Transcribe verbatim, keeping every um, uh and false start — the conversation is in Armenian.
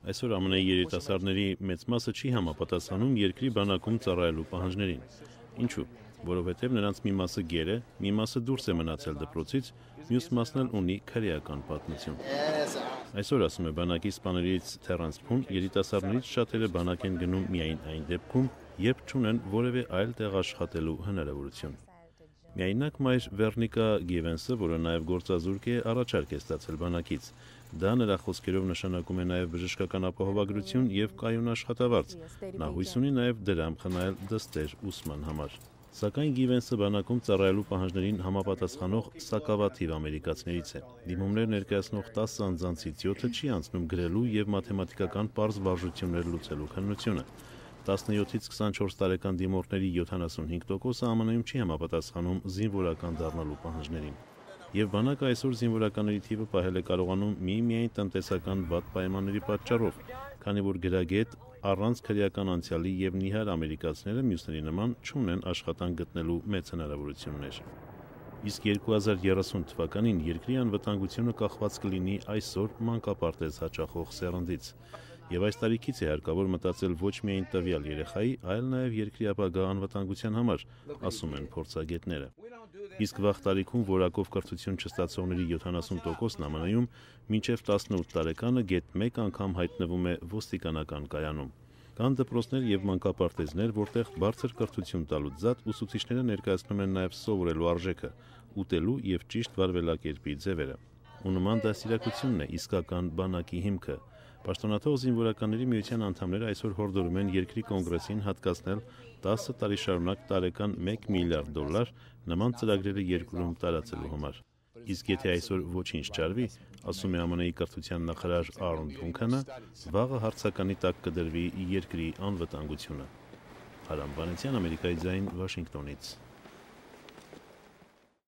Այսօր ԱՄՆ երիտասարդների մեծ մասը չի համապատասխանում երկրի բանակում ծառայելու պահանջներին։ Ինչու՞։ Որովհետև նրանց մի մասը գեր է, մի մասը դուրս է մնացել դպրոցից, մյուս մասն էլ ունի քրեական պատմություն։ Այսօր, ասում է բանակի սպաներից Թերենս Փուն, երիտասարդներից շատերը բանակ են գնում միայն այն դեպքում, երբ չունեն որևէ այլ տեղ աշխատելու հնարավորություն։ Միայնակ մայր Վերնիկա Գիվենսը, որը նաև գործազուրկ է, առաջարկ է ստացել բանակից։ Դա նրա խոսքերով նշանակում է նաև բժշկական ապահովագրություն եւ կայուն աշխատավարձ։ Նա հույս ունի նաև դրամ խնայել դստեր ուսման համար։ Սակայն Գիվենսը բանակում ծառայելու պահանջներին համապատասխանող սակավաթիվ ամերիկացիներից է։ Դիմումներ ներկայացնող տասը անձանցից յոթը չի անցնում գրելու եւ մաթեմատիկական պարզ վարժություններ լուծելու քննությունը։ տասնյոթից քսանչորս տարեկան դիմորդների յոթանասունհինգ տոկոսը ԱՄՆ-ում չի համապատասխանում զինվորական դառնալու պահանջներին։ Եվ բանակը այսօր զինվորականների թիվը պահել է կարողանում միմիայն տնտեսական վատ պայմանների պատճառով, քանի որ գրագետ առանց քրեական անցյալի եւ նիհար ամերիկացիները մյուսների նման չունեն աշխատանք գտնելու մեծ հնարավորություններ։ Իսկ երկու հազար երեսուն թվականին երկրի անվտանգությունը կախված կլինի այսօր մանկապարտեզ հաճախող սերնդից։ Եվ այս տարիքից է հարկավոր մտածել ոչ միայն տվյալ երեխայի, այլ նաև երկրի ապագա անվտանգության համար, ասում են փորձագետները։ Իսկ վաղ տարիքում որակով կրթություն չստացողների յոթանասուն տոկոսն ԱՄՆ-ում մինչև տասնութ տարեկանը գեթ մեկ անգամ հայտնվում է ոստիկանական կայանում։ Կան դպրոցներ եւ մանկապարտեզներ, որտեղ բարձր կրթություն տալուց զատ ուսուցիչները ներկայացնում են նաև սովորելու արժեքը, ուտելու եւ ճիշտ վարվելակերպի ձևերը։ Ու նման դաստիարակությունն է իսկական բանակի հիմքը։ Պաշտոնաթող զինվորականների միության անդամները այսօր հորդորում են երկրի կոնգրեսին հատկացնել տասը տարի շարունակ տարեկան մեկ միլիարդ դոլար նման ծրագրերը երկրում տարածելու համար։ Իսկ եթե այսօր ոչինչ չարվի, ասում է ԱՄՆ-ի կրթության նախարար Արոն Դունքանը, վաղը հարցականի տակ կդրվի երկրի անվտանգությունը։ Հարամ Վանեցյան, Ամերիկայի ձայն, Վաշինգտոնից։